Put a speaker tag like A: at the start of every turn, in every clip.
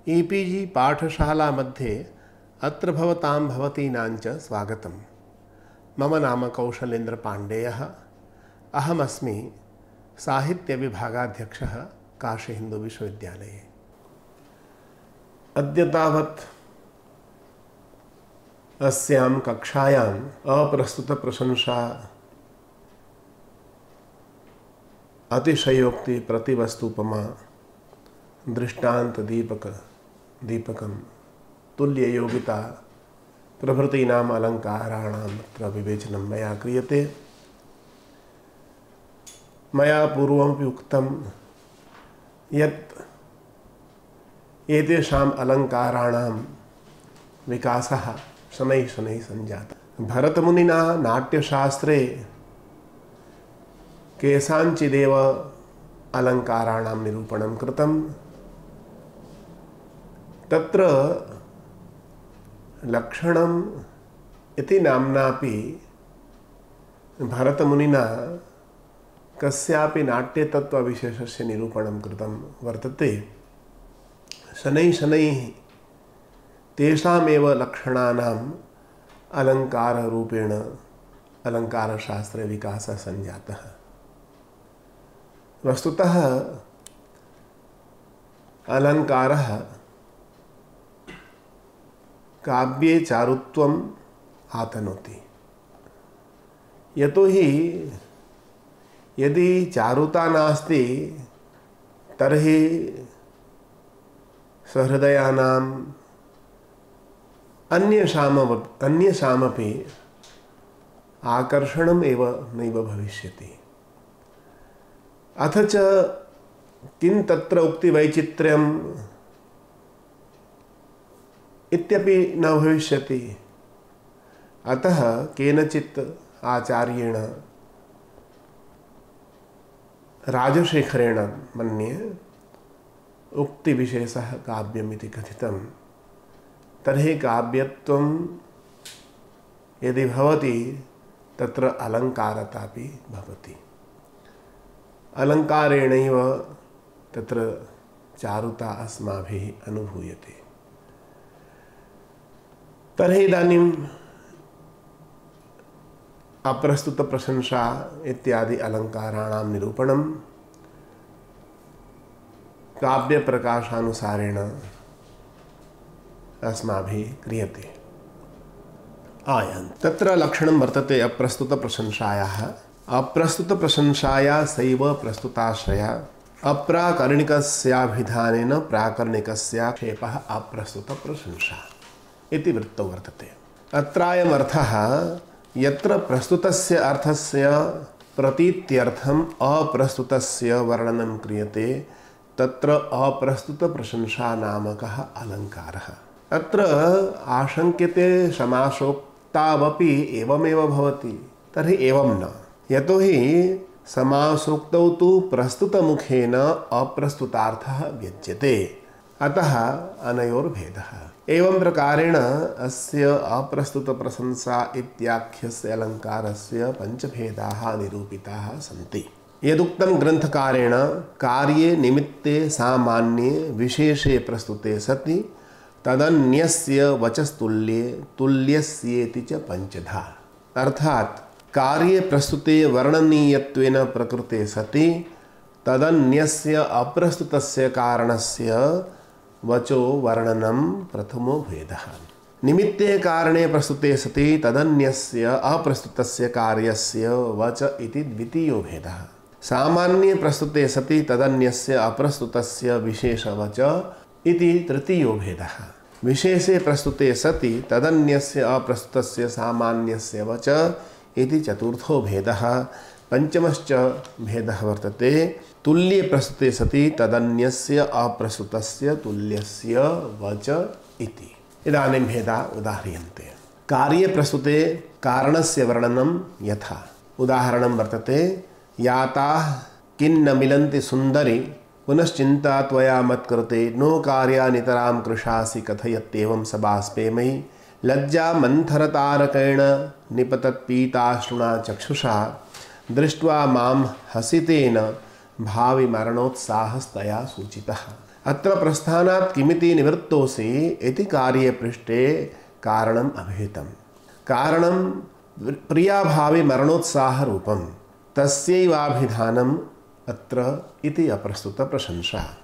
A: E-PG पाठशाला मध्ये अत्र भवतां भवतीनां च स्वागतं। मम नाम कौशलेन्द्र पाण्डेयः। अहमस्मि साहित्यविभागाध्यक्षः काशीहिन्दुविश्वविद्यालये। अद्य तावत् अस्यां कक्षायाम् अप्रस्तुतप्रशंसा अतिशयोक्ति प्रतिवस्तुपमा दृष्टान्तदीपकं तुल्ययोगिता प्रभृतीनाम् अलङ्काराणाम् अत्र विवेचनं मया क्रियते। मया पूर्वमपि उक्तं यत् एतेषाम् अलङ्काराणां विकासः शनैः शनैः सञ्जातः। भरतमुनिना नाट्यशास्त्रे केषाञ्चिदेव अलङ्काराणां निरूपणं कृतं। तत्र लक्षणम् इति नाम्नापि भरतमुनिना कस्यापि नाट्यतत्त्वविशेषस्य निरूपणं कृतं वर्तते। शनैः शनैः तेषामेव लक्षणानाम् अलङ्काररूपेण अलङ्कारशास्त्रे विकासः सञ्जातः। वस्तुतः अलङ्कारः काव्ये चारुत्वम् आतनोति। यतोहि यदि चारुता नास्ति तर्हि सहृदयानाम् अन्येषामपि आकर्षणम् एव नैव भविष्यति। अथ च किं तत्र उक्तिवैचित्र्यम् इत्यपि न भविष्यति। अतः केनचित् आचार्येण राजशेखरेण मन्ये उक्तिविशेषः काव्यमिति कथितं। तर्हि काव्यत्वं यदि भवति तत्र अलङ्कारतापि भवति। अलङ्कारेणैव तत्र चारुता अस्माभिः अनुभूयते। तर्हि इदानीम् अप्रस्तुतप्रशंसा इत्यादि अलङ्काराणां निरूपणं काव्यप्रकाशानुसारेण अस्माभिः क्रियते। तत्र लक्षणं वर्तते अप्रस्तुतप्रशंसायाः। अप्रस्तुतप्रशंसाया सैव प्रस्तुताश्रया अप्राकरणिकस्याभिधानेन प्राकरणिकस्याक्षेपः अप्रस्तुतप्रशंसा इति वृत्तौ वर्तते। अत्रायमर्थः यत्र प्रस्तुतस्य अर्थस्य प्रतीत्यर्थम् अप्रस्तुतस्य वर्णनं क्रियते तत्र अप्रस्तुतप्रशंसा नामकः अलङ्कारः। अत्र आशङ्क्यते समासोक्तावपि एवमेव भवति। तर्हि एवं न। यतोहि समासोक्तौ तु प्रस्तुतमुखेन अप्रस्तुतार्थः व्यज्यते। अतः अनयोर्भेदः। एवं प्रकारेण अस्य अप्रस्तुतप्रशंसा इत्याख्यस्य अलङ्कारस्य पञ्चभेदाः निरूपिताः सन्ति। यदुक्तं ग्रन्थकारेण कार्ये निमित्ते सामान्ये विशेषे प्रस्तुते सति तदन्यस्य वचस्तुल्ये तुल्यस्येति च पञ्चधा। अर्थात् कार्ये प्रस्तुते वर्णनीयत्वेन प्रकृते सति तदन्यस्य अप्रस्तुतस्य कारणस्य वचो वर्णनं प्रथमो भेदः। निमित्ते कारणे प्रस्तुते सति तदन्यस्य अप्रस्तुतस्य कार्यस्य वच इति द्वितीयो भेदः। सामान्ये प्रस्तुते सति तदन्यस्य अप्रस्तुतस्य विशेषवच इति तृतीयो भेदः। विशेषे प्रस्तुते सति तदन्यस्य अप्रस्तुतस्य सामान्यस्य वच इति चतुर्थो भेदः। पंचमश्च भेदः वर्तते तुल्ये प्रस्तुते सति तदन्यस्य अप्रस्तुतस्य तुल्यस्य वच इति। इदानीं भेदा उदाह्रियन्ते। कार्ये प्रस्तुते कारणस्य वर्णनं यथा। उदाहरणं वर्तते याताः किन्न मिलन्ति सुन्दरि पुनश्चिन्ता त्वया मत्कृते नो कार्या नितरां कृशासि कथयत्येवं स बाष्पेमयि लज्जा मन्थरतारकेण निपतत्पीताश्रुणा चक्षुषा दृष्ट्वा मां हसितेन भावि मरणोत्साहस्तया सूचितः। अत्र प्रस्थानात् किमिति निवृत्तोऽसि इति कार्ये पृष्टे कारणम् अभिहितं। कारणं प्रियाभावि मरणोत्साहरूपं तस्यैवाभिधानम् अत्र इति अप्रस्तुत प्रशंसा।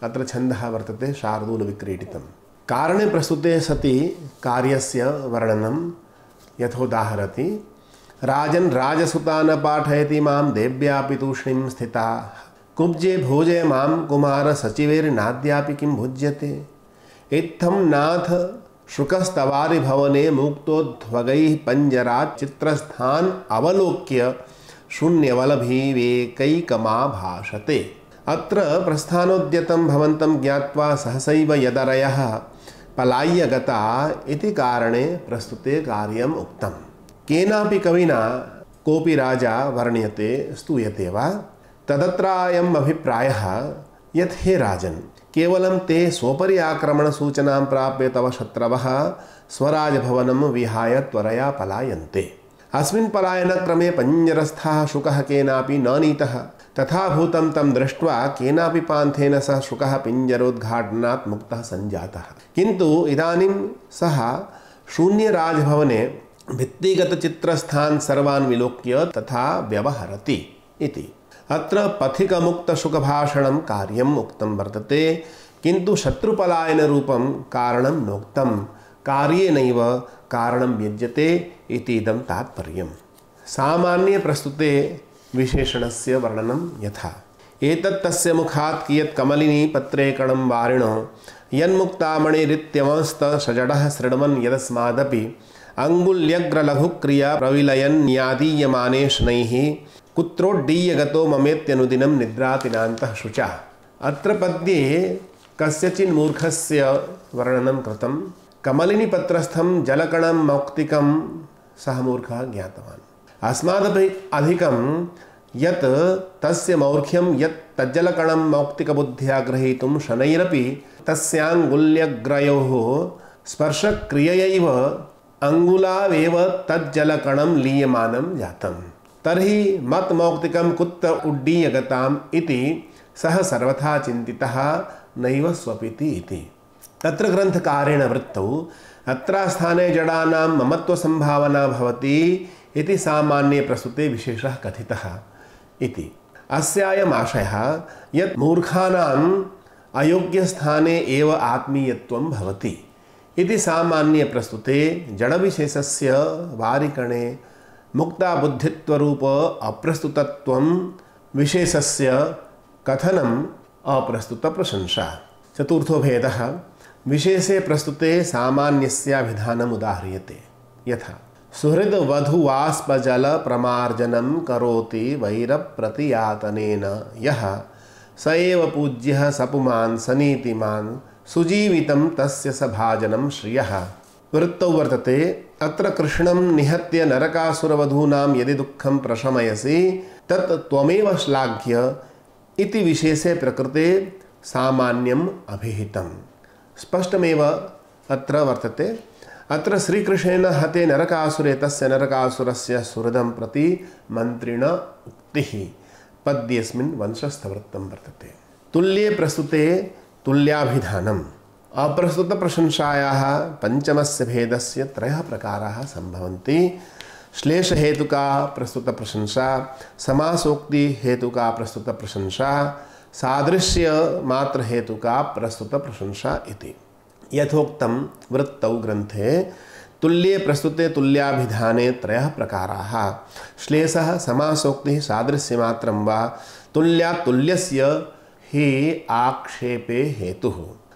A: अत्र छन्दः वर्तते शार्दूलविक्रीडितं। कारणे प्रस्तुते सति कार्यस्य वर्णनं यथोदाहरति। राजन् राजसुता न पाठयति मां देव्यापि तूष्णीं स्थिता, कुब्जे भोजय मां कुमार सचिवैर्नाद्यापि किं भुज्यते। इत्थं नाथ शुकस्तवारि भवने मुक्तोध्वगैः पञ्जरात् चित्रस्थान् अवलोक्य शून्यवलभिवेकैकमा भाषते। अत्र प्रस्थानोद्यतं भवन्तं ज्ञात्वा सहसैव यदरयः पलाय्य गता इति कारणे प्रस्तुते कार्यम् उक्तम्। केनापि कविना कोऽपि राजा वर्ण्यते स्तूयते वा तदत्रायम् अभिप्रायः यत् हे राजन्, केवलं ते स्वोपरि आक्रमणसूचनां प्राप्य तव शत्रवः स्वराजभवनं विहाय त्वरया पलायन्ते। अस्मिन् पलायनक्रमे पञ्जरस्थः शुकः केनापि न नीतः। तथा भूतं तं दृष्ट्वा केनापि पान्थेन सः शुकः पिञ्जरोद्घाटनात् मुक्तः सञ्जातः। किन्तु इदानीं सः शून्यराजभवने भित्तिगतचित्रस्थान् सर्वान् विलोक्य तथा व्यवहरति इति। अत्र पथिकमुक्तशुकभाषणं कार्यम् उक्तं वर्तते, किन्तु शत्रुपलायनरूपं कारणं नोक्तं। कार्येनैव कारणं व्यज्यते इतीदं तात्पर्यम्। सामान्ये प्रस्तुते विशेषणस्य वर्णनं यथा। एतत् तस्य मुखात् कियत् कमलिनी पत्रे कणं वारिणो यन्मुक्तामणिरित्यवंस्तषजडः शृण्वन् यदस्मादपि अङ्गुल्यग्रलघुक्रिया प्रविलयन्यादीयमाने शनैः कुत्रोड्डीयगतो ममेत्यनुदिनं निद्रातिनान्तः शुचा। अत्र पद्ये कस्यचिन् मूर्खस्य वर्णनं कृतं। कमलिनीपत्रस्थं जलकणं मौक्तिकं सः मूर्खः ज्ञातवान्। अस्मादपि अधिकं यत् तस्य मौर्ख्यं यत् तज्जलकणं मौक्तिकबुद्ध्या ग्रहीतुं शनैरपि तस्याङ्गुल्यग्रयोः स्पर्शक्रिययैव अङ्गुलावेव तज्जलकणं लीयमानं जातं। तर्हि मत्मौक्तिकं कुत्र उड्डीयगताम् इति सः सर्वथा चिन्तितः नैव स्वपिति इति। तत्र ग्रन्थकारेण वृत्तौ अत्रास्थाने जडानां ममत्वसंभावना भवति इति सामान्ये प्रस्तुते विशेषः कथितः इति। अस्यायम् आशयः यत् मूर्खानाम् अयोग्यस्थाने एव आत्मीयत्वं भवति इति। सामान्ये प्रस्तुते जडविशेषस्य वारिकणे मुक्ताबुद्धित्वरूप अप्रस्तुतत्वं विशेषस्य कथनम् अप्रस्तुतप्रशंसा। चतुर्थो भेदः। विशेषे प्रस्तुते सामान्यस्याभिधानम् उदाह्रियते यथा। सुहृद वधुवास्पजल प्रमार्जनं करोति वैरप्रतियातनेन यः स एव पूज्यः सपुमान् सनीतिमान् सुजीवितं तस्य स भाजनं श्रियः। वृत्तौ वर्तते। अत्र कृष्णं निहत्य नरकासुरवधूनां यदि दुःखं प्रशमयसि तत् त्वमेव श्लाघ्य इति विशेषे प्रकृते सामान्यम् अभिहितं। स्पष्टमेव अत्र वर्तते। अत्र श्रीकृष्णेन हते नरकासुरे तस्य नरकासुरस्य सुहृदं प्रति मन्त्रिण उक्तिः पद्येऽस्मिन् वंशस्थवृत्तं वर्तते। तुल्ये प्रस्तुते तुल्याभिधानम्। अप्रस्तुतप्रशंसायाः पञ्चमस्य भेदस्य त्रयः प्रकाराः सम्भवन्ति। श्लेषहेतुका प्रस्तुतप्रशंसा, समासोक्तिहेतुका प्रस्तुतप्रशंसा, सादृश्यमात्रहेतुका प्रस्तुतप्रशंसा इति। यथोक्तं वृत्तौ ग्रन्थे तुल्ये प्रस्तुते तुल्याभिधाने त्रयः प्रकाराः। श्लेषः, समासोक्तिः, सादृश्यमात्रं वा तुल्यात् तुल्यस्य हि आक्षेपे हेतुः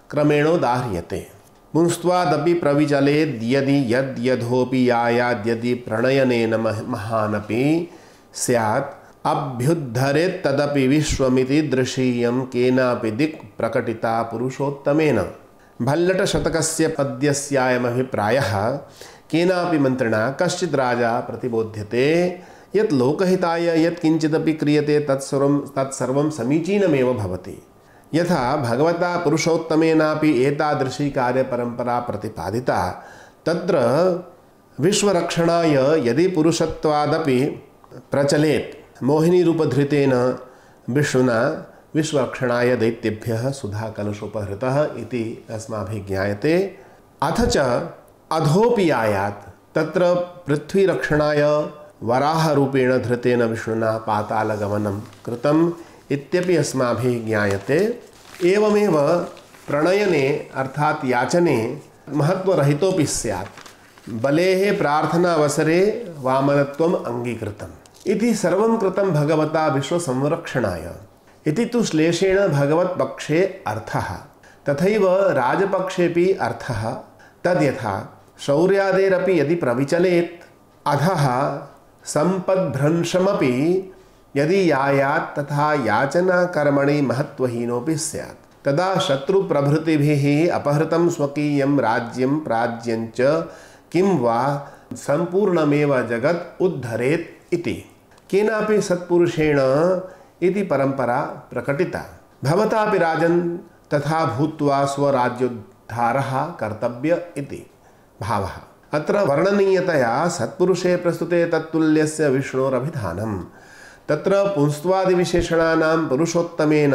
A: क्रमेणोदाह्रियते। पुंस्त्वादपि प्रविचलेद्यदि यद्यधोऽपि यायाद्यदि प्रणयनेन महानपि स्यात् अभ्युद्धरेत्तदपि विश्वमिति दृशीयं केनापि दिक् प्रकटिता पुरुषोत्तमेन। भल्लटशतकस्य पद्यस्यायमभिप्रायः केनापि मन्त्रिणा कश्चित् राजा प्रतिबोध्यते यत् लोकहिताय यत् किञ्चिदपि क्रियते तत्सर्वं समीचीनमेव भवति। यथा भगवता पुरुषोत्तमेनापि एतादृशी कार्यपरम्परा प्रतिपादिता, तत्र विश्वरक्षणाय यदि पुरुषत्वादपि प्रचलेत् मोहिनीरूपधृतेन विष्णुना विश्वरक्षणाय दैत्येभ्यः सुधाकलशोपहृतः इति अस्माभिः ज्ञायते। अथ च अधोऽपि आयात् तत्र पृथ्वीरक्षणाय वराहरूपेण धृतेन विष्णुना पातालगमनं कृतम् इत्यपि अस्माभिः ज्ञायते। एवमेव प्रणयने अर्थात् याचने महत्वरहितोऽपि स्यात् बलेः प्रार्थनावसरे वामनत्वम् अङ्गीकृतम् इति सर्वं कृतं भगवता विश्वसंरक्षणाय इति तु श्लेषेण भगवत्पक्षे अर्थः। तथैव राजपक्षेपि अर्थः तद्यथा शौर्यादेरपि यदि प्रविचलेत् अधः सम्पद्भ्रंशमपि यदि यायात् तथा याचनाकर्मणि महत्वहीनोऽपि स्यात् तदा शत्रुप्रभृतिभिः अपहृतं स्वकीयं राज्यं प्राज्यञ्च किं वा सम्पूर्णमेव जगत् उद्धरेत् इति केनापि सत्पुरुषेण इति परम्परा प्रकटिता। भवतापि राजन् तथा भूत्वा स्वराज्योद्धारः कर्तव्य इति भावः। अत्र वर्णनीयतया सत्पुरुषे प्रस्तुते तत्तुल्यस्य विष्णोरभिधानं तत्र पुंस्त्वादिविशेषणानां पुरुषोत्तमेन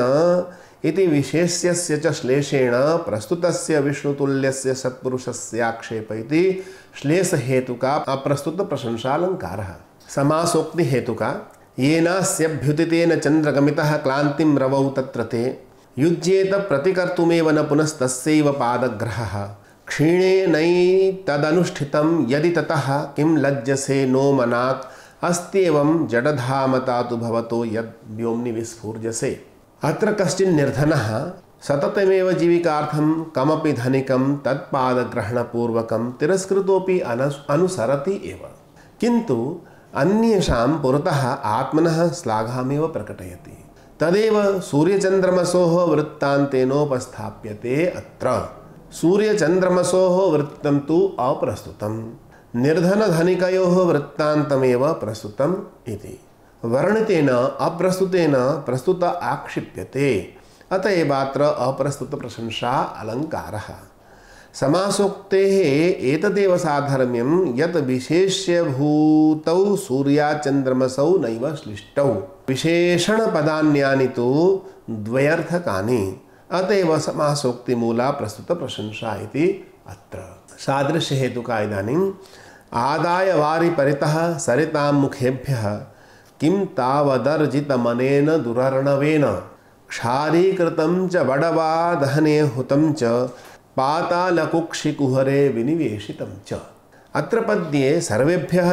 A: इति विशेष्यस्य च श्लेषेण प्रस्तुतस्य विष्णुतुल्यस्य सत्पुरुषस्याक्षेप इति श्लेषहेतुका अप्रस्तुतप्रशंसालङ्कारः। समासोक्तिहेतुका येनास्यभ्युदितेन चन्द्रगमितः क्लान्तिं रवौ तत्र ते युज्येत प्रतिकर्तुमेव न पुनस्तस्यैव पादग्रहः क्षीणेनैतदनुष्ठितं यदि ततः किं लज्जसे नो मनात् अस्त्येवं जडधामता तु भवतो यद् व्योम्नि विस्फूर्जसे। अत्र कश्चिन् निर्धनः सततमेव जीविकार्थं कमपि धनिकं तत्पादग्रहणपूर्वकं तिरस्कृतोपि अनुसरति एव, किन्तु अन्येषां पुरतः आत्मनः श्लाघामेव प्रकटयति। तदेव सूर्यचन्द्रमसोः वृत्तान्तेनोपस्थाप्यते। अत्र सूर्यचन्द्रमसोः वृत्तं तु अप्रस्तुतं, निर्धनधनिकयोः वृत्तान्तमेव प्रस्तुतम् इति वर्णितेन अप्रस्तुतेन प्रस्तुत आक्षिप्यते। अत एवात्र अप्रस्तुतप्रशंसा अलङ्कारः। समासोक्तेः एतदेव साधर्म्यं यत् विशेष्यभूतौ सूर्याचन्द्रमसौ नैव श्लिष्टौ विशेषणपदान्यानि तु द्वयर्थकानि। अतएव समासोक्तिमूला प्रस्तुतप्रशंसा इति अत्र। सादृश्यहेतुका इदानीम् आदाय वारि परितः सरितां मुखेभ्यः किं तावदर्जितमनेन दुरर्णवेन क्षारीकृतं च बडवा दहने हुतं च पातालकुक्षिकुहरे विनिवेशितं च। अत्र पद्ये सर्वेभ्यः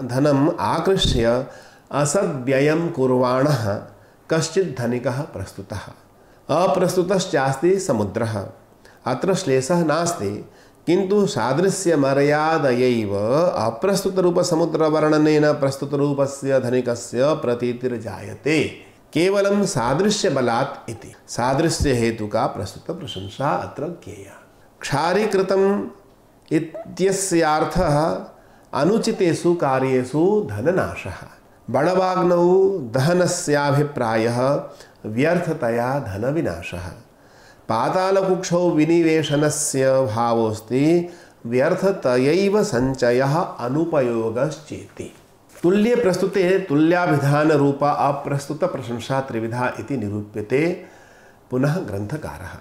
A: धनम् आकृष्य असद्व्ययं कुर्वाणः कश्चित् धनिकः प्रस्तुतः। अप्रस्तुतश्चास्ति समुद्रः। अत्र श्लेषः नास्ति, किन्तु सादृश्यमर्यादयैव अप्रस्तुतरूपसमुद्रवर्णनेन प्रस्तुतरूपस्य धनिकस्य प्रतीतिर्जायते। केवलं सादृश्यबलात् इति सादृश्यहेतुका प्रस्तुतप्रशंसा अत्र ज्ञेया। क्षारीकृतम् इत्यस्यार्थः अनुचितेषु कार्येषु धननाशः। बडवाग्नौ दहनस्याभिप्रायः व्यर्थतया धनविनाशः। पातालकुक्षौ विनिवेशनस्य भावोऽस्ति व्यर्थतयैव सञ्चयः अनुपयोगश्चेति। तुल्ये प्रस्तुते तुल्याभिधान रूप अप्रस्तुत प्रशंसा त्रिविधा इति निरूप्यते। पुनः ग्रन्थकारः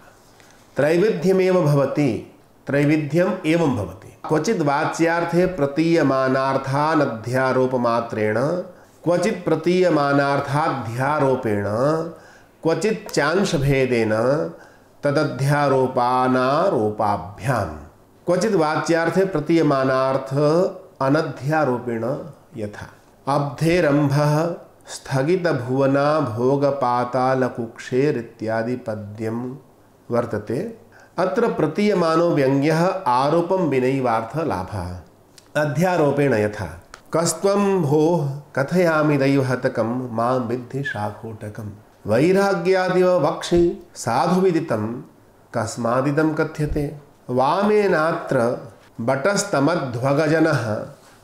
A: त्रैविध्यमेव भवति, त्रैविध्यम् एवं भवति। क्वचित् वाच्यार्थे प्रतीयमानार्थानध्यारोपमात्रेण, क्वचित् प्रतीयमानार्थाध्यारोपेण, क्वचित् चांशभेदेन तदध्यारोपानारोपाभ्यां, क्वचित् वाच्यार्थे प्रतीयमानार्थ अनध्यारोपेण यथा अब्धेरम्भः स्थगितभुवना भोगपातालकुक्षेरित्यादि पद्यं वर्तते। अत्र प्रतीयमानो व्यङ्ग्यः आरोपं विनैवार्थलाभः। अध्यारोपेण यथा कस्त्वं भोः कथयामि दैवहतकं मां विद्धि शाकोटकं वैराग्यादिव वक्षि साधुविदितं कस्मादिदं कथ्यते। वामेनात्र बटस्तमध्वगजनः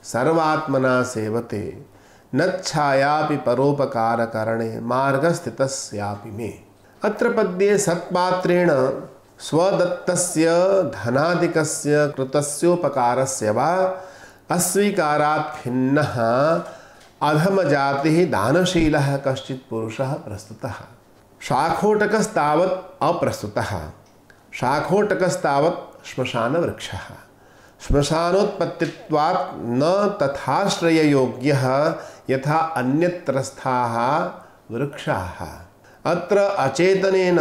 A: सर्वात्मना सेवते नच्छायापि परोपकारकरणे मार्गस्थितस्यापि मे। अत्र पद्ये सत्पात्रेण स्वदत्तस्य धनादिकस्य कृतस्योपकारस्य वा अस्वीकारात् खिन्नः अधमजातिः दानशीलः कश्चित् पुरुषः प्रस्तुतः। शाखोटकस्तावत् अप्रस्तुतः। शाखोटकस्तावत् श्मशानवृक्षः। श्मशानोत्पत्तित्वात् न तथाश्रययोग्यः यथा अन्यत्रस्थाः वृक्षाः। अत्र अचेतनेन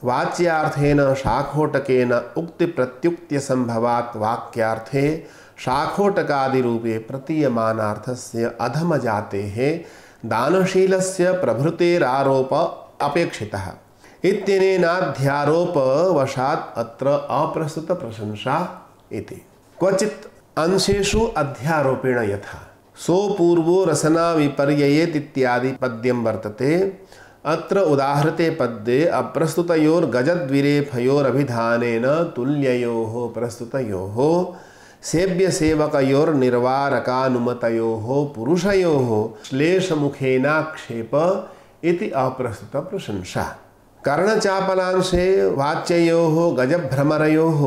A: वाच्यार्थेन शाखोटकेन उक्तिप्रत्युक्त्यसम्भवात् वाक्यार्थे शाखोटकादिरूपे प्रतीयमानार्थस्य अधमजातेः दानशीलस्य प्रभृतेरारोप अपेक्षितः इत्यनेनाध्यारोपवशात् अत्र अप्रस्तुतप्रशंसा इति। क्वचित् अंशेषु अध्यारोपेण यथा सोपूर्वो रसनाविपर्ययेत् इत्यादि पद्यं वर्तते। अत्र उदाहृते पद्ये अप्रस्तुतयोर्गजद्विरेफयोरभिधानेन तुल्ययोः प्रस्तुतयोः सेव्यसेवकयोर्निर्वारकानुमतयोः पुरुषयोः श्लेषमुखेनाक्षेप इति अप्रस्तुतप्रशंसा। कर्णचापलांशे वाच्ययोः गजभ्रमरयोः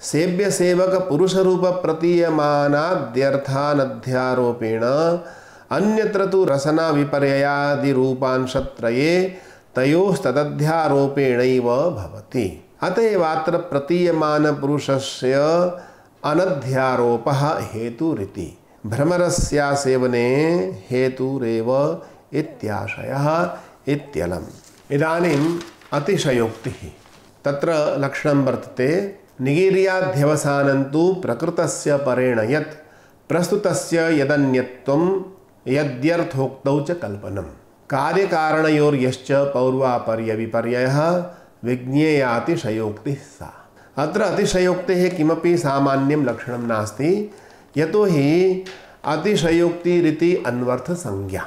A: सेव्यसेवकपुरुषरूपप्रतीयमानाद्यर्थानध्यारोपेण अन्यत्र तु रसनाविपर्ययादिरूपांशत्रये तयोस्तदध्यारोपेणैव भवति। अतएवात्र प्रतीयमानपुरुषस्य अनध्यारोपः हेतुरिति। भ्रमरस्यासेवने हेतुरेव इत्याशयः इत्यलम्। इदानीम् अतिशयोक्तिः तत्र लक्षणं वर्तते। निगीर्याध्यवसानं तु प्रकृतस्य परेण यत् प्रस्तुतस्य यदन्यत्वं यद्यर्थोक्तौ च कल्पनम्। कार्यकारणयोर्यश्च पौर्वापर्यविपर्ययः विज्ञेयातिशयोक्तिः सा। अत्र अतिशयोक्तेः किमपि सामान्यं लक्षणं नास्ति। यतोहि अतिशयोक्तिरिति अन्वर्थसंज्ञा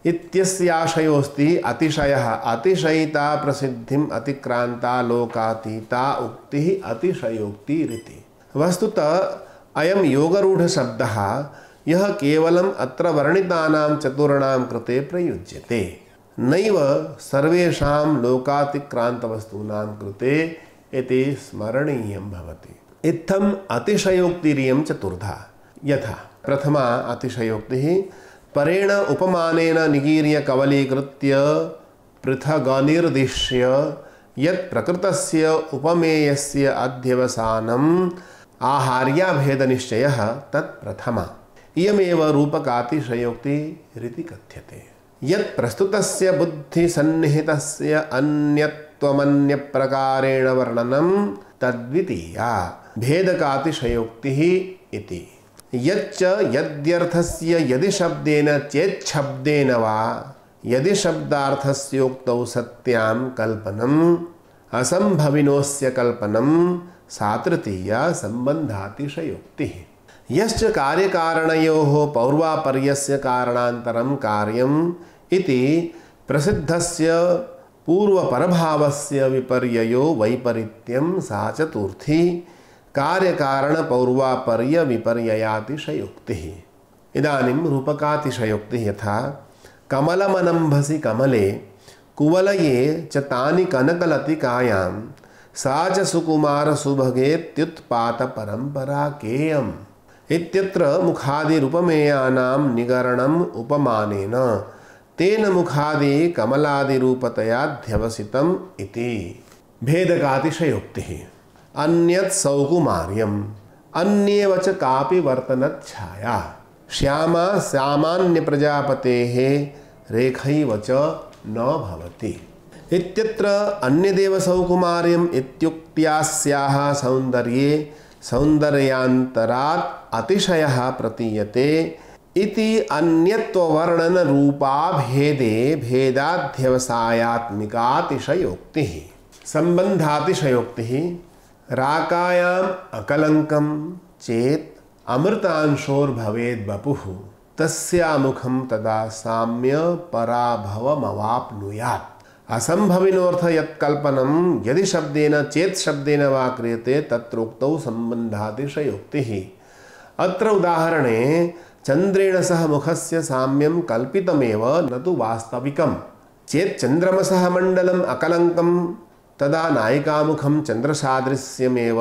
A: इत्यस्याशयोऽस्ति। अतिशयः अतिशयिता प्रसिद्धिम् अतिक्रान्ता लोकातीता उक्तिः अतिशयोक्तिरिति। वस्तुतः अयं योगरूढशब्दः यः केवलम् अत्र वर्णितानां चतुर्णां कृते प्रयुज्यते, नैव सर्वेषां लोकातिक्रान्तवस्तूनां कृते इति स्मरणीयं भवति। इत्थम् अतिशयोक्तिरियं चतुर्धा। यथा प्रथमा अतिशयोक्तिः परेण उपमानेन निगीर्य कवलीकृत्य पृथगनिर्दिश्य यत् प्रकृतस्य उपमेयस्य अध्यवसानम् आहार्याभेदनिश्चयः तत् प्रथमा। इयमेव रूपकातिशयोक्तिरिति कथ्यते। यत् प्रस्तुतस्य बुद्धिसन्निहितस्य अन्यत्वमन्यप्रकारेण वर्णनं तद्वितीया भेदकातिशयोक्तिः इति। यच्च यद्यर्थस्य यदि शब्देन चेच्छब्देन वा यदि शब्दार्थस्योक्तौ सत्यां कल्पनम् असंभविनोस्य कल्पनं सा तृतीया संबन्धातिशयोक्तिः। यश्च कार्यकारणयोः पौर्वापर्यस्य कारणान्तरं कार्यम् इति प्रसिद्धस्य पूर्वपरभावस्य विपर्ययो वैपरीत्यं सा चतुर्थी कार्यकारणपौर्वापर्यविपर्ययातिशयोक्तिः। इदानीं रूपकातिशयोक्तिः यथा कमलमनम्भसि कमले कुवलये च तानि कनकलतिकायां सा च सुकुमारसुभगेत्युत्पातपरम्परा केयम् इत्यत्र मुखादिरुपमेयानां निगरणम् उपमानेन तेन मुखादि कमलादिरूपतयाध्यवसितम् इति। भेदकातिशयोक्तिः अन्यत् सौकुमार्यम् अन्येव च कापि वर्तनच्छाया श्यामा सामान्यप्रजापतेः रेखैव च न भवति इत्यत्र अन्यदेव सौकुमार्यम् इत्युक्त्यास्याः सौन्दर्ये सौन्दर्यान्तरात् अतिशयः प्रतीयते इति अन्यत्ववर्णनरूपाभेदे भेदाध्यवसायात्मिकातिशयोक्तिः। सम्बन्धातिशयोक्तिः राकायाम् अकलङ्कं चेत् अमृतांशोर्भवेद् वपुः तस्यामुखं तदा साम्य पराभवमवाप्नुयात्। असंभविनोऽर्थ यत्कल्पनं यदि शब्देन चेत् शब्देन वा क्रियते तत्रोक्तौ सम्बन्धातिशयोक्तिः। अत्र उदाहरणे चन्द्रेण सह मुखस्य साम्यं कल्पितमेव न तु वास्तविकं। चेत् चन्द्रमसः मण्डलम् अकलङ्कं तदा नायिकामुखं चन्द्रसादृश्यमेव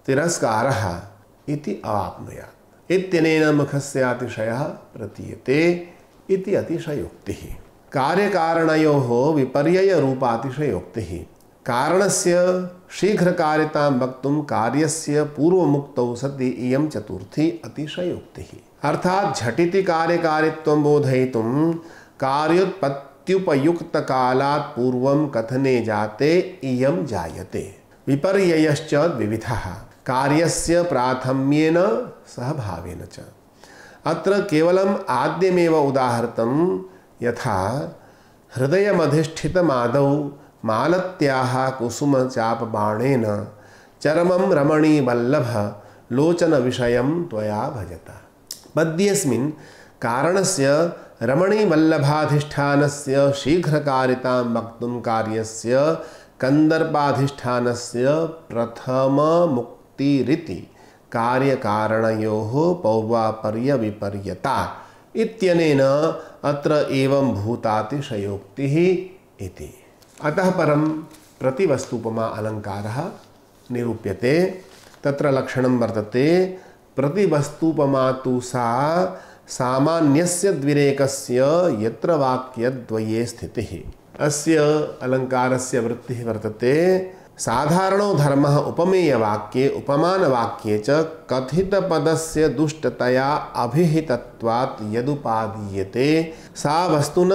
A: तिरस्कारः इति अवाप्नुयात्। इत्यनेन मुखस्य अतिशयः प्रतीयते इति अतिशयोक्तिः। कार्यकारणयोः विपर्ययरूपातिशयोक्तिः। कारणस्य शीघ्रकार्यतां वक्तुं कार्यस्य पूर्वमुक्तौ सति इयं चतुर्थी अतिशयोक्तिः। अर्थात् झटिति कार्यकारित्वं बोधयितुं कार्योत्पत्त्युपयुक्तकालात् पूर्वं कथने जाते इयं जायते। विपर्ययश्च द्विविधः, कार्यस्य प्राथम्येन सह भावेन च। अत्र केवलम् आद्यमेव उदाहृतं, यथा हृदयमधिष्ठितमादौ मालत्याः कुसुमचापबाणेन चरमं रमणीवल्लभ लोचनविषयं त्वया भजता। पद्येऽस्मिन् कारणस्य रमणीवल्लभाधिष्ठानस्य शीघ्रकारितां वक्तुं कार्यस्य कन्दर्पाधिष्ठानस्य प्रथममुक्तिरिति कार्यकारणयोः पौर्वापर्यविपर्यता इत्यनेन अत्र एवं भूतातिशयोक्तिः इति। अतः परं प्रतिवस्तुपमा अलङ्कारः निरूप्यते। तत्र लक्षणं वर्तते, प्रतिवस्तुपमा तु सा सामान्यस्य द्विरेकस्य यत्र वाक्यद्वये स्थितिः। अस्य अलङ्कारस्य वृत्तिः वर्तते, साधारणो धर्मः उपमेयवाक्ये उपमानवाक्ये च कथितपदस्य दुष्टतया अभिहितत्वात् यदुपादीयते सा वस्तुन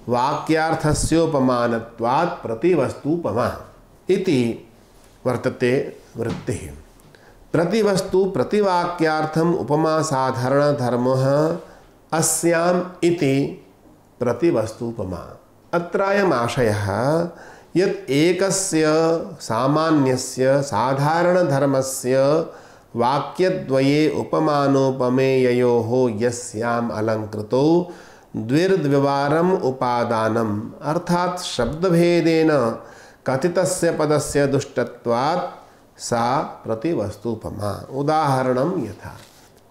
A: वाक्यार्थस्योपमानत्वात् प्रतिवस्तुपमा इति वर्तते वृत्तिः। प्रतिवस्तु प्रतिवाक्यार्थम् उपमा साधारणधर्मः अस्याम् इति प्रतिवस्तुपमा। अत्रायम् आशयः यत् एकस्य सामान्यस्य साधारणधर्मस्य वाक्यद्वये उपमानोपमेययोः यस्याम् अलङ्कृतौ द्विर्द्विवारम् उपादानम् अर्थात् शब्दभेदेन कथितस्य पदस्य दुष्टत्वात् सा प्रतिवस्तुपमा। उदाहरणं यथा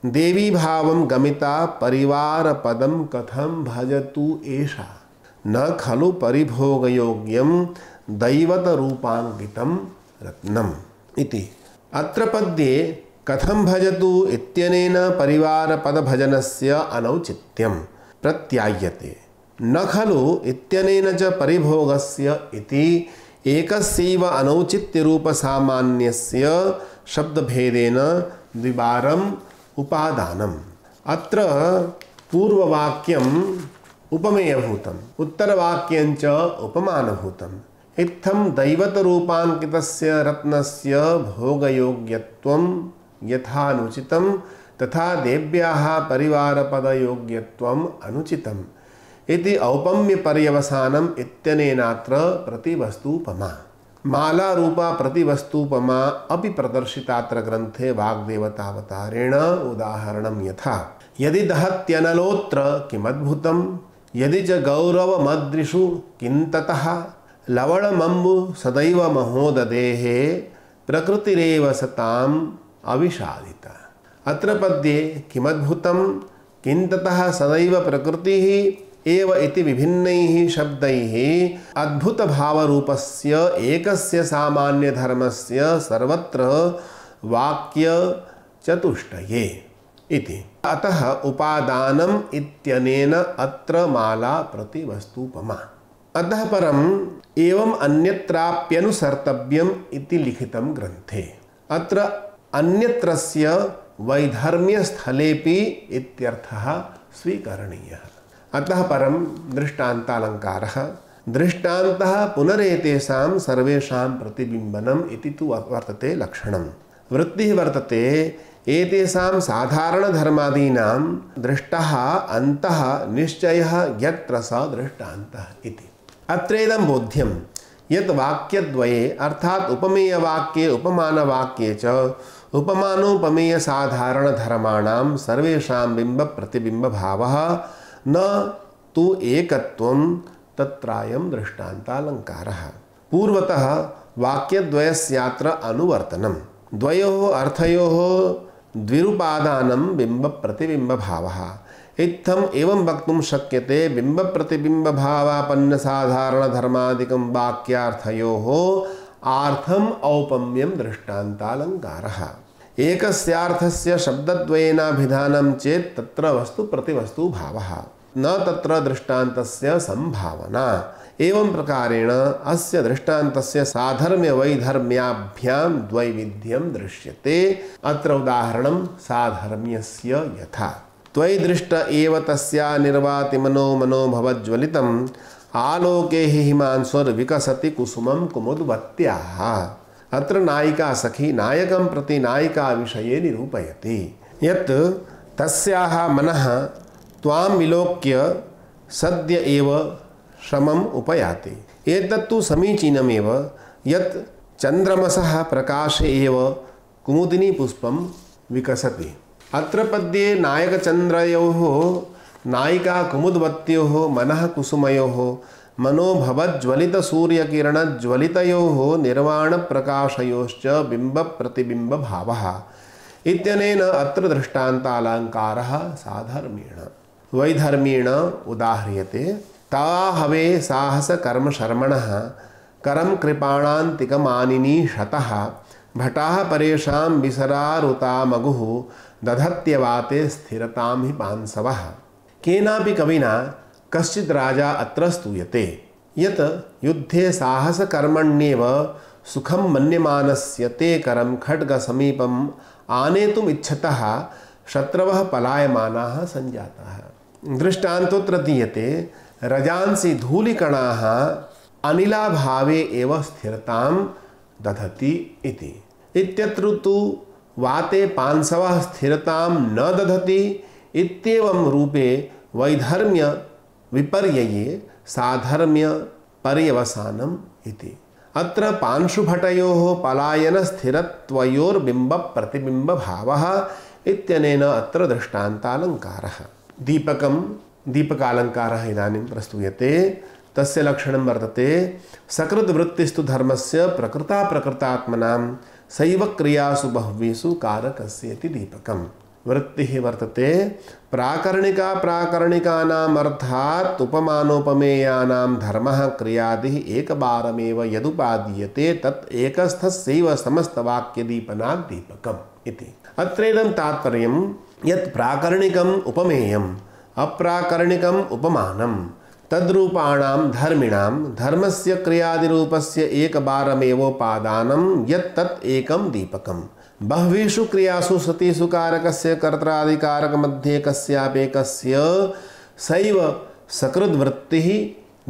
A: देवी भावं गमिता परिवारपदं कथं भजतु एषा न खलु परिभोगयोग्यं दैवतरूपाङ्कितं रत्नम् इति। अत्र पद्ये कथं भजतु इत्यनेन परिवारपदभजनस्य अनौचित्यं प्रत्यायते। न खलु इत्यनेन च परिभोगस्य इति एकस्यैव अनौचित्यरूपसामान्यस्य शब्दभेदेन द्विवारम् उपादानम्। अत्र पूर्ववाक्यम् उपमेयभूतम्, उत्तरवाक्यञ्च उपमानभूतम्। इत्थं दैवतरूपाङ्कितस्य रत्नस्य भोगयोग्यत्वं यथानुचितं तथा देव्याः परिवारपदयोग्यत्वम् अनुचितम् इति औपम्यपर्यवसानम् इत्यनेनात्र प्रतिवस्तुपमा। मालारूपा प्रतिवस्तुपमा अपि प्रदर्शितात्र ग्रन्थे वाग्देवतावतारेण। उदाहरणं यथा यदि दहत्यनलोत्र किमद्भुतं यदि च गौरवमदृशु किन्ततः लवणमम्बु सदैव महोदधेः प्रकृतिरेव सताम् अविषादिता। अत्र पद्ये किमद्भुतं किन्ततः सदैव प्रकृतिः एव इति विभिन्नैः शब्दैः अद्भुतभावरूपस्य एकस्य सामान्यधर्मस्य सर्वत्र वाक्यचतुष्टये इति। अतः उपादानम् इत्यनेन अत्र माला प्रतिवस्तुपमा। अतः परम् एवम् अन्यत्राप्यनुसर्तव्यम् इति लिखितं ग्रन्थे। अत्र अन्यत्रस्य वैधर्म्यस्थलेपि इत्यर्थः स्वीकरणीयः। अतः परं दृष्टान्तालङ्कारः। दृष्टान्तः पुनरेतेषां सर्वेषां प्रतिबिम्बनम् इति तु वर्तते लक्षणं। वृत्तिः वर्तते एतेषां साधारणधर्मादीनां दृष्टः अन्तः निश्चयः यत्र स दृष्टान्तः इति। अत्रेदं बोध्यं यत् वाक्यद्वये अर्थात् उपमेयवाक्ये उपमानवाक्ये च उपमानोपमेयसाधारणधर्माणां सर्वेषां बिम्बप्रतिबिम्बभावः न तु एकत्वं तत्रायं दृष्टान्तालङ्कारः। पूर्वतः वाक्यद्वयस्यात्र अनुवर्तनं। द्वयोः अर्थयोः द्विरुपादानं बिम्बप्रतिबिम्बभावः। इत्थम् एवं वक्तुं शक्यते बिम्बप्रतिबिम्बभावापन्नसाधारणधर्मादिकं वाक्यार्थयोः आर्थम् औपम्यं दृष्टान्तालङ्कारः। एकस्यार्थस्य शब्दद्वयेनाभिधानं चेत् तत्र वस्तु प्रतिवस्तु भावः, न तत्र दृष्टान्तस्य संभावना। एवं प्रकारेण अस्य दृष्टान्तस्य साधर्म्य वैधर्म्याभ्यां द्वैविध्यं दृश्यते। अत्र उदाहरणं साधर्म्यस्य यथा त्वयि दृष्ट एव तस्या निर्वाति मनो मनो भवज्ज्वलितम् आलोके हि हिमांशुर्विकसति कुसुमं कुमुद्वत्याः। अत्र नायिका सखी नायकं प्रति नायिका विषये निरूपयति यत् तस्याः मनः त्वां विलोक्य सद्य एव शमम् उपयाति। एतत्तु समीचीनमेव यत् चन्द्रमसः प्रकाशे एव कुमुदिनी पुष्पं विकसति। अत्र पद्ये नायकचन्द्रयोः नायिका कुमुद्वत्योः मनः कुसुमयोः मनोभवज्ज्वलितसूर्यकिरणज्वलितयोः निर्वाणप्रकाशयोश्च बिम्बप्रतिबिम्बभावः इत्यनेन अत्र दृष्टान्तालङ्कारः साधर्म्येण वैधर्म्येण उदाह्रियते। ता हवे साहसकर्मशर्मणः करं कृपाणान्तिकमानिनी शतः भटाः परेषां विसरारुतामगुः दधत्यवाते स्थिरतां हि पांसवः। केनापि कविना कश्चित् राजा अत्र स्तूयते यत् युद्धे साहसकर्मण्येव सुखं मन्यमानस्य ते करं खड्गसमीपम् आनेतुम् इच्छतः शत्रवः पलायमानाः सञ्जाताः। दृष्टान्तोऽत्र दीयते रजांसि धूलिकणाः अनिलाभावे एव स्थिरतां दधति इति। इत्यत्र तु वाते पांसवः स्थिरतां न दधति इत्येवं रूपे वैधर्म्य विपर्यये साधर्म्य पर्यवसानम् इति। अत्र पांशुभटयोः पलायनस्थिरत्वयोर्बिम्बप्रतिबिम्बभावः इत्यनेन अत्र दृष्टान्तालङ्कारः। दीपकालङ्कारः इदानीं प्रस्तूयते। तस्य लक्षणं वर्तते सकृद्वृत्तिस्तु धर्मस्य प्रकृता प्रकृतात्मनां सैव क्रियासु बहुवीषु कारकस्येति दीपकम्। वृत्तिः वर्तते प्राकरणिका प्राकरणिकानाम् अर्थात् उपमानोपमेयानां धर्मः क्रियादिः एकबारमेव यदुपादीयते तत् एकस्थस्यैव समस्तवाक्यदीपनात् दीपकम् इति। अत्रेदं तात्पर्यं यत् प्राकरणिकम् उपमेयम् अप्राकरणिकम् उपमानं तद्रूपाणां धर्मिणां धर्मस्य क्रियादिरूपस्य एकबारमेवोपादानं यत् तत् एकं दीपकम्। बह्वीषु क्रियासु सतीषु कारकस्य कर्त्रादिकारकमध्ये कस्यापेकस्य सैव सकृद्वृत्तिः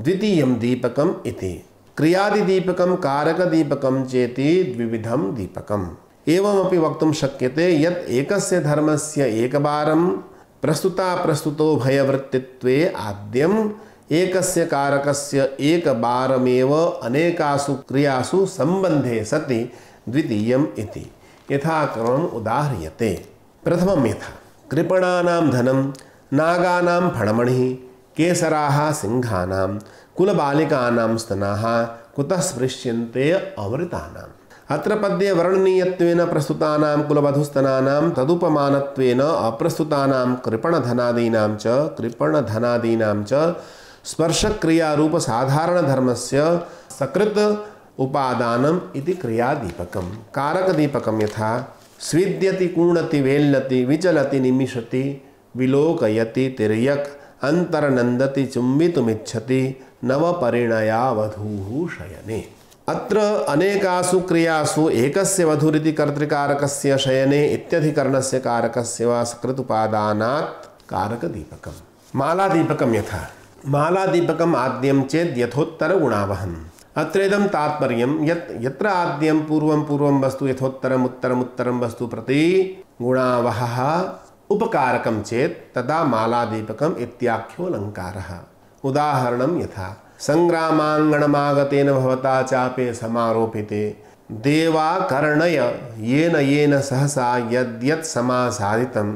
A: द्वितीयं दीपकम् इति। क्रियादिदीपकं कारकदीपकं चेति द्विविधं दीपकम्। एवमपि वक्तुं शक्यते यत् एकस्य धर्मस्य एकबारं प्रस्तुतो भयवृत्तित्वे आद्यम् एकस्य कारकस्य एकबारमेव अनेकासु क्रियासु सम्बन्धे सति द्वितीयम् इति यथाक्रमम् उदाह्रियते। प्रथमं यथा कृपणानां धनं नागानां फणमणिः केसराः सिंहानां कुलबालिकानां स्तनाः कुतः स्पृश्यन्ते अमृतानाम्। अत्र पद्ये वर्णनीयत्वेन प्रस्तुतानां कुलवधुस्तनानां तदुपमानत्वेन अप्रस्तुतानां कृपणधनादीनां च स्पर्शक्रियारूपसाधारणधर्मस्य सकृत् उपादानम् इति क्रियादीपकं। कारकदीपकं यथा स्विद्यति कूणति वेल्लति विचलति निमिषति विलोकयति तिर्यक् अंतरनन्दति चुम्बितुमिच्छति नवपरिणया वधूः शयने। अत्र अनेकासु क्रियासु एकस्य वधुरिति कर्तृकारकस्य शयने इत्यधिकरणस्य कारकस्य वा सकृदुपादानात् कारकदीपकम्। मालादीपकं यथा मालादीपकम् आद्यं चेत् यथोत्तरगुणावहम्। अत्रेदं तात्पर्यं यत् यत्र आद्यं पूर्वं वस्तु यथोत्तरम् उत्तरं वस्तु प्रति गुणावहः उपकारकं चेत् तदा मालादीपकम् इत्याख्योऽलङ्कारः। उदाहरणं यथा संग्रामाङ्गणमागतेन भवता चापे समारोपिते देवाकर्णय येन सहसा यद्यत् समासादितं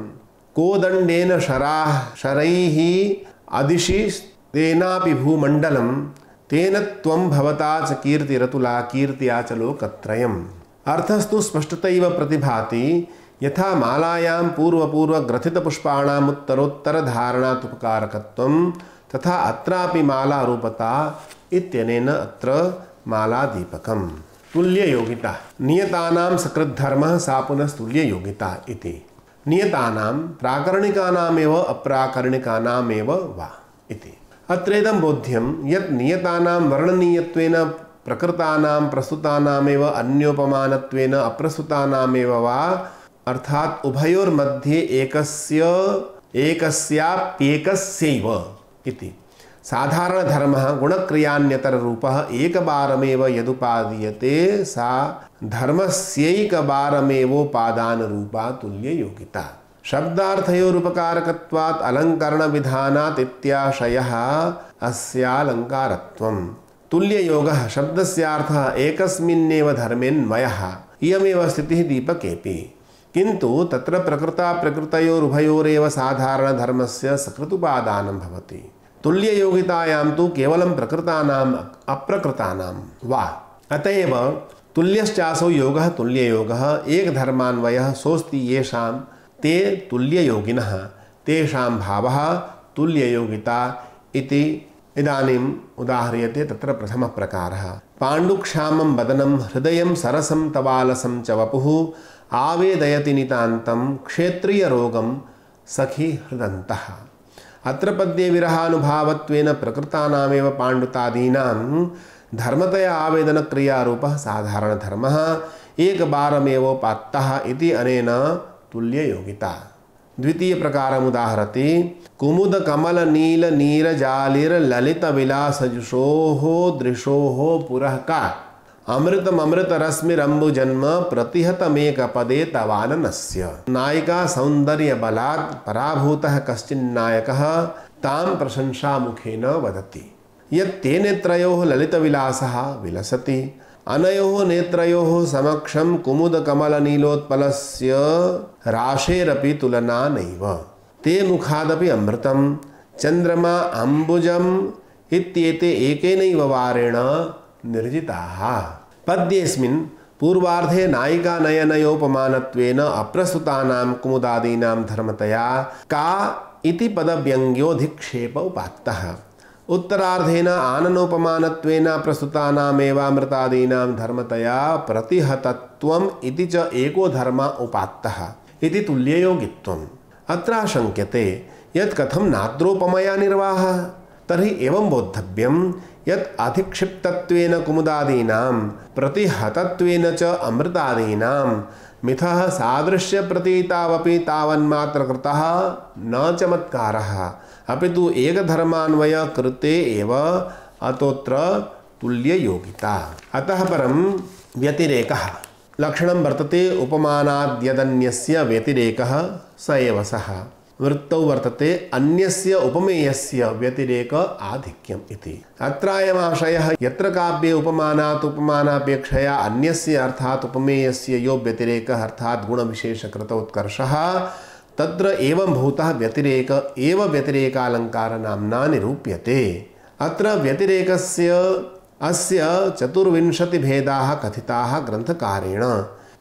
A: कोदण्डेन शरैः अदिशि तेनापि भूमण्डलं तेन त्वं भवता च कीर्तिरतुला कीर्त्या च लोकत्रयम्। अर्थस्तु स्पष्टतैव प्रतिभाति यथा मालायां पूर्वग्रथितपुष्पाणाम् उत्तरोत्तरधारणात् तथा अत्रापि मालारूपता इत्यनेन अत्र मालादीपकम्। तुल्ययोगिता नियतानां सकृद्धर्मः सा पुनस्तुल्ययोगिता इति। नियतानां प्राकरणिकानामेव अप्राकरणिकानामेव वा इति। अत्रेदं बोध्यं यत् नियतानां वर्णनीयत्वेन प्रकृतानां प्रस्तुतानामेव अन्योपमानत्वेन अप्रस्तुतानामेव वा अर्थात् उभयोर्मध्ये एकस्याप्येकस्यैव इति। साधारणधर्मः गुणक्रियान्यतररूपः एकबारमेव यदुपादीयते सा धर्मस्यैकबारमेवोपादानरूपा तुल्ययोगिता। शब्दार्थयोरुपकारकत्वात् अलङ्करणविधानात् इत्याशयः अस्यालङ्कारत्वम्। तुल्ययोगः शब्दस्यार्थः एकस्मिन्नेव धर्मेऽन्वयः इयमेव स्थितिः दीपकेऽपि। किन्तु तत्र प्रकृता प्रकृतयोरुभयोरेव साधारणधर्मस्य सकृतुपादानं भवति। तुल्ययोगितायां तु केवलं प्रकृतानाम् अप्रकृतानां वा। अतएव तुल्यश्चासौ योगः तुल्ययोगः एकधर्मान्वयः सोऽस्ति येषां ते तुल्ययोगिनः तेषां भावः तुल्ययोगिता इति इदानीम् उदाह्रियते। तत्र प्रथमः प्रकारः पाण्डुक्षामं वदनं हृदयं सरसं तवालसं च वपुः आवेदयति नितान्तं क्षेत्रीयरोगं सखी हृदन्तः। अत्र पद्ये विरहानुभावत्वेन प्रकृतानामेव पाण्डुतादीनां धर्मतया आवेदनक्रियारूपः साधारणधर्मः एकबारमेवोपात्तः इति अनेन तुल्ययोगिता। द्वितीयप्रकारमुदाहरति कुमुदकमलनीलनीरजालिर्ललितविलासजुषोः दृशोः पुरः का अमृतममृतरश्मिरम्बुजन्म प्रतिहतमेकपदे तवाननस्य। नायिका सौन्दर्यबलात् पराभूतः कश्चिन्नायकः तां प्रशंसामुखेन वदति। यत्ते नेत्रयोः ललितविलासः विलसति अनयोः नेत्रयोः समक्षं कुमुदकमलनीलोत्पलस्य राशेरपि तुलना नैव। ते मुखादपि अमृतं चन्द्रमा अम्बुजम् इत्येते एकेनैव वारेण निर्जिताः। पद्येऽस्मिन् पूर्वार्धे नायिकानयनयोपमानत्वेन अप्रस्तुतानां कुमुदादीनां धर्मतया का इति पदव्यङ्ग्योऽधिक्षेप उपात्तः। उत्तरार्धेन आननोपमानत्वेन प्रस्तुतानामेवामृतादीनां धर्मतया प्रतिहतत्वम् इति च एको धर्म उपात्तः इति तुल्ययोगित्वम्। अत्र शङ्क्यते यत् कथं नात्रोपमया निर्वाहः। तर्हि एवं बोद्धव्यं यत् अधिक्षिप्तत्वेन कुमुदादीनां प्रतिहतत्वेन च अमृतादीनां मिथः सादृश्यप्रतीतावपि तावन्मात्रकृतः न चमत्कारः अपितु एकधर्मान्वय कृते एव अतोत्र तुल्ययोगिता। अतः परं व्यतिरेकः लक्षणं वर्तते उपमानाद्यदन्यस्य व्यतिरेकः स एव सः। वृत्तौ वर्तते अन्यस्य उपमेयस्य व्यतिरेक आधिक्यम् इति। अत्रायमाशयः यत्र काव्ये उपमानात् उपमानापेक्षया अन्यस्य अर्थात् उपमेयस्य यो व्यतिरेकः अर्थात् गुणविशेषकृतोत्कर्षः तत्र एवं भूतः व्यतिरेक एव व्यतिरेकालङ्कारनाम्ना निरूप्यते। अत्र व्यतिरेकस्य अस्य 24 भेदाः कथिताः ग्रन्थकारेण।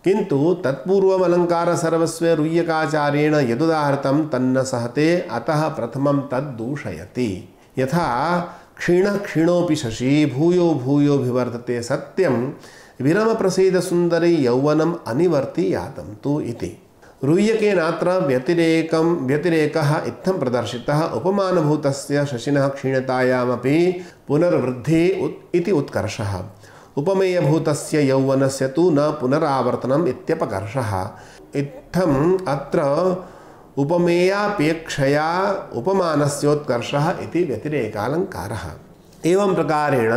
A: किन्तु तत्पूर्वम् अलङ्कारसर्वस्वे रुय्यकाचार्येण यदुदाहृतं तन्न सहते अतः प्रथमं तद्दूषयति। यथा क्षीणः क्षीणोऽपि शशी भूयो भूयोऽभिवर्धते सत्यं विरमप्रसीदसुन्दरी यौवनम् अनिवर्ति यातं तु इति। रुय्यकेनात्र व्यतिरेकः इत्थं प्रदर्शितः उपमानभूतस्य शशिनः क्षीणतायामपि पुनर्वृद्धिः इति उत्कर्षः। उपमेयभूतस्य यौवनस्य तु न पुनरावर्तनम् इत्यपकर्षः। इत्थम् अत्र उपमेयापेक्षया उपमानस्योत्कर्षः इति व्यतिरेकालङ्कारः। एवं प्रकारेण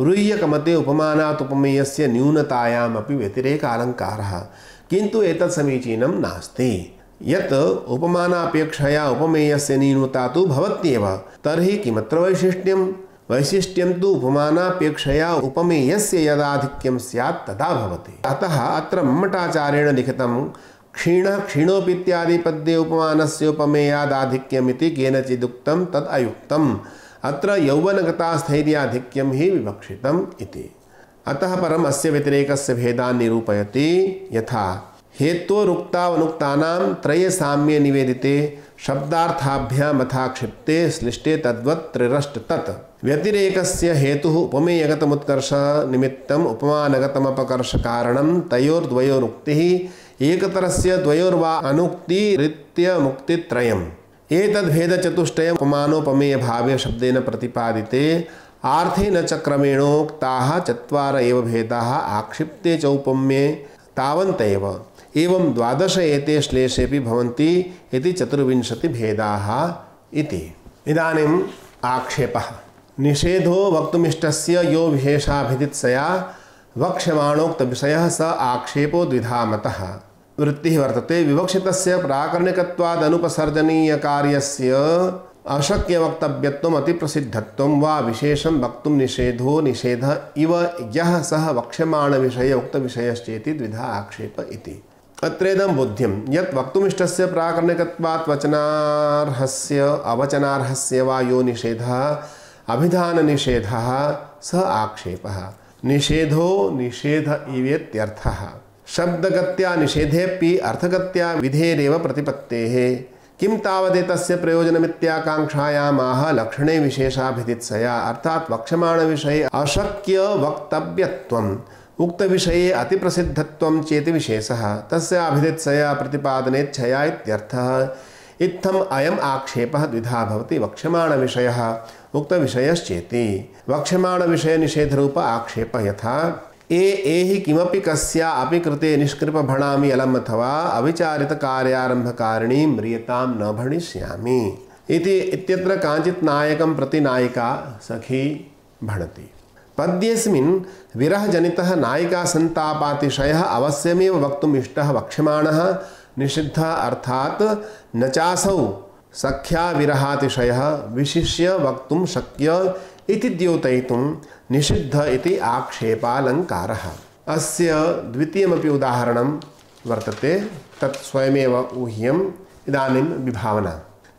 A: रुय्यकमते उपमानात् उपमेयस्य न्यूनतायामपि व्यतिरेकालङ्कारः। किन्तु एतत् समीचीनं नास्ति। यत् उपमानापेक्षया उपमेयस्य न्यूनता तु भवत्येव तर्हि किमत्र वैशिष्ट्यं? वैशिष्ट्यं तु उपमानापेक्षया उपमेयस्य यदाधिक्यं स्यात् तदा भवति। अतः अत्र मम्मटाचार्येण लिखितं क्षीणः क्षीणोऽपीत्यादि पद्ये उपमानस्य उपमेयादाधिक्यमिति केनचिदुक्तं तद् अयुक्तम्। अत्र यौवनगतास्थैर्याधिक्यं हि विवक्षितम् इति। अतः परम् अस्य व्यतिरेकस्य भेदान् निरूपयति। यथा हेत्वोरुक्तावनुक्तानां त्रये साम्ये निवेदिते शब्दार्थाभ्याम् यथाक्षिप्ते श्लिष्टे तद्वत् त्रिरष्ट तत् व्यतिरेकस्य हेतुः उपमेयगतमुत्कर्ष निमित्तम् उपमानगतमपकर्ष कारणं तयोर्द्वयोरुक्तिः एकतरस्य द्वयोर्वा अनुक्तिरित्य मुक्तित्रयम् एतद्भेदचतुष्टयम् उपमानोपमेय भावे शब्देन प्रतिपादिते आर्थे न च क्रमेणोक्ताः चत्वार एव भेदाः आक्षिप्ते च उपम्ये तावन्तैव एवं 12 एते श्लेषेऽपि भवन्ति इति 24 भेदाः इति। इदानीम् आक्षेपः निषेधो वक्तुमिष्टस्य यो विशेषाभिदित्सया वक्ष्यमाणोक्तविषयः स आक्षेपो द्विधा मतः वृत्तिः वर्तते। विवक्षितस्य प्राकरणिकत्वादनुपसर्जनीयकार्यस्य अशक्यवक्तव्यत्वम् अतिप्रसिद्धत्वं वा विशेषं वक्तुं निषेधो निषेध इव यः सः वक्ष्यमाणविषये उक्तविषयश्चेति द्विधा आक्षेप इति। अत्रेदं बोध्यं यत् वक्तुमिष्टस्य प्राकरणिकत्वात् वचनार्हस्य अवचनार्हस्य वा यो निषेधः अभिधाननिषेधः स आक्षेपः। निषेधो निषेध इवेत्यर्थः। शब्दगत्या निषेधेऽपि अर्थगत्या विधेरेव प्रतिपत्तेः। किं तावदेतस्य प्रयोजनमित्याकाङ्क्षायामाह लक्षणे विशेषाभिदित्सया अर्थात् वक्ष्यमाणविषये अशक्य वक्तव्यत्वम् उक्तविषये अतिप्रसिद्धत्वं चेति विशेषः तस्य अभिदित्सया प्रतिपादनेच्छया इत्यर्थः। इत्थम् अयम् आक्षेपः द्विधा भवति वक्ष्यमाणविषयः उक्तविषयश्चेति। वक्ष्यमाणविषयनिषेधरूप आक्षेपः यथा एहि किमपि कस्या अपि कृते निष्कृपभणामि अलम् अथवा अविचारितकार्यारम्भकारिणीं म्रियतां न भणिष्यामि इति इत्यत्र काञ्चित् नायकं प्रति नायिका सखी भणति। पद्येऽस्मिन् विरहजनितः नायिकासन्तापातिशयः अवश्यमेव वक्तुम् इष्टः वक्ष्यमाणः निषिद्धः अर्थात् न चासौ सख्या विरहातिशयः विशिष्य वक्तुं शक्य इति द्योतयितुं निषिद्ध इति आक्षेपालङ्कारः। अस्य द्वितीयमपि उदाहरणं वर्तते तत् स्वयमेव ऊह्यम्। इदानीं विभावना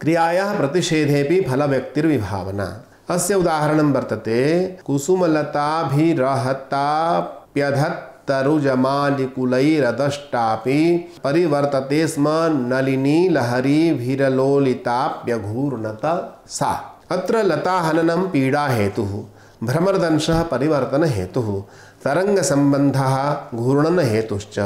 A: क्रियायाः प्रतिषेधेऽपि फलव्यक्तिर्विभावना। अस्य उदाहरणं वर्तते कुसुमलताभिरहताप्यधत्तरुजमालिकुलैरदष्टापि परिवर्तते स्म नलिनी लहरीभिरलोलिताप्यघूर्णत सा। अत्र लताहननं पीडा हेतुः, भ्रमरदंशः परिवर्तन हेतुः, तरङ्गसम्बन्धः घूर्णन हेतुश्च।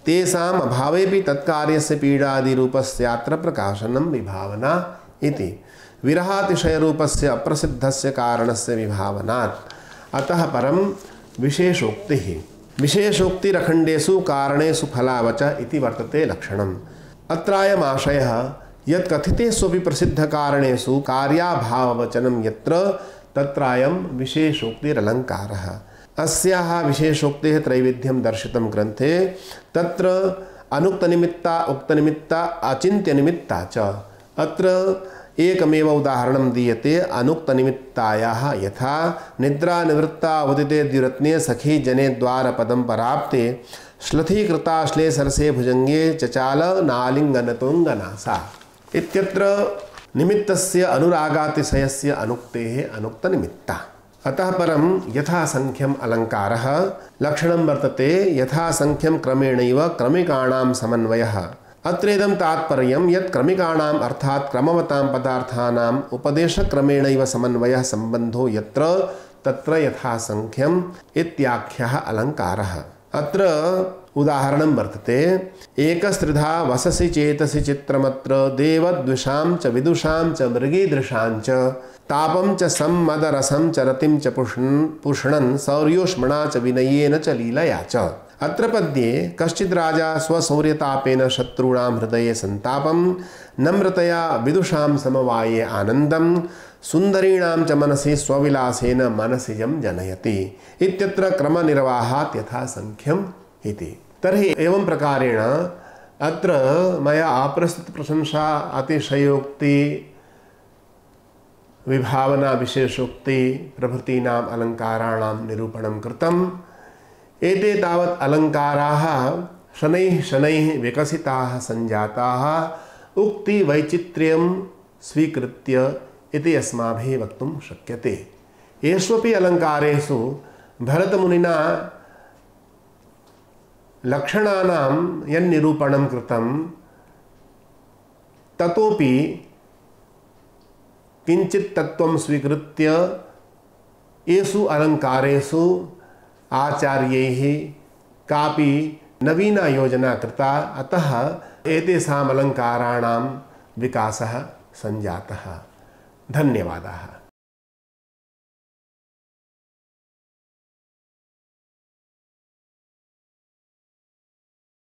A: तेषाम् अभावेपि तत्कार्यस्य पीडादिरूपस्यात्र प्रकाशनं विभावना इति। विरहातिशयरूपस्य अप्रसिद्धस्य कारणस्य विभावनात्। अतः परं विशेषोक्तिः। विशेषोक्तिरखण्डेषु कारणेषु फलावच इति वर्तते लक्षणम्। अत्रायमाशयः यत् कथितेष्वपि प्रसिद्धकारणेषु कार्याभाववचनं यत्र तत्रायं विशेषोक्तिरलङ्कारः। अस्याः विशेषोक्तेः त्रैविध्यं दर्शितं ग्रन्थे। तत्र अनुक्तनिमित्ता उक्तनिमित्ता अचिन्त्यनिमित्ता च। अत्र एकमेव उदाहरणं दीयते अनुक्तनिमित्तायाः यथा निद्रानिवृत्ता उदिते द्विरत्ने सखी जने द्वारपदं पराप्ते श्लथीकृता श्ले सरसे भुजंगे चचाल नालिङ्गनतोऽङ्गना सा इत्यत्र निमित्तस्य अनुरागातिशयस्य अनुक्तेः अनुक्तनिमित्ता। अतः परं यथासङ्ख्यम् अलङ्कारः लक्षणं वर्तते यथासङ्ख्यं क्रमेणैव क्रमिकाणां समन्वयः। अत्रेदं तात्पर्यं यत् क्रमिकाणाम् अर्थात् क्रमवतां पदार्थानाम् उपदेशक्रमेणैव समन्वयः सम्बन्धो यत्र तत्र यथासङ्ख्यम् इत्याख्यः अलङ्कारः। अत्र उदाहरणं वर्तते एकस्त्रिधा वससि चेतसि चित्रमत्र देवद्विषां च विदुषां च मृगीदृशां च तापं च सम्मदरसं च रतिं च पुष्णन् सौर्योष्मणा च विनयेन च लीलया च। अत्र पद्ये कश्चित् राजा स्वशौर्यतापेन शत्रूणां हृदये सन्तापं नम्रतया विदुषां समवाये आनन्दं सुन्दरीणां च मनसि स्वविलासेन मनसिजं जनयति इत्यत्र क्रमनिर्वाहात् यथासङ्ख्यम् इति। तर्हि एवं प्रकारेण अत्र मया अप्रस्तुतप्रशंसा अतिशयोक्ति विभावना विशेषोक्ति प्रभृतीनाम् अलङ्काराणां निरूपणं कृतम्। एते तावत् अलङ्काराः शनैः शनैः विकसिताः सञ्जाताः उक्तिवैचित्र्यं स्वीकृत्य इति अस्माभिः वक्तुं शक्यते। येष्वपि अलङ्कारेषु भरतमुनिना लक्षणानां यन्निरूपणं कृतं ततोपि किञ्चित् तत्त्वं स्वीकृत्य येषु अलङ्कारेषु आचार्यैः कापि नवीना योजना कृता, अतः एतेषाम् अलङ्काराणां विकासः सञ्जातः। धन्यवादाः।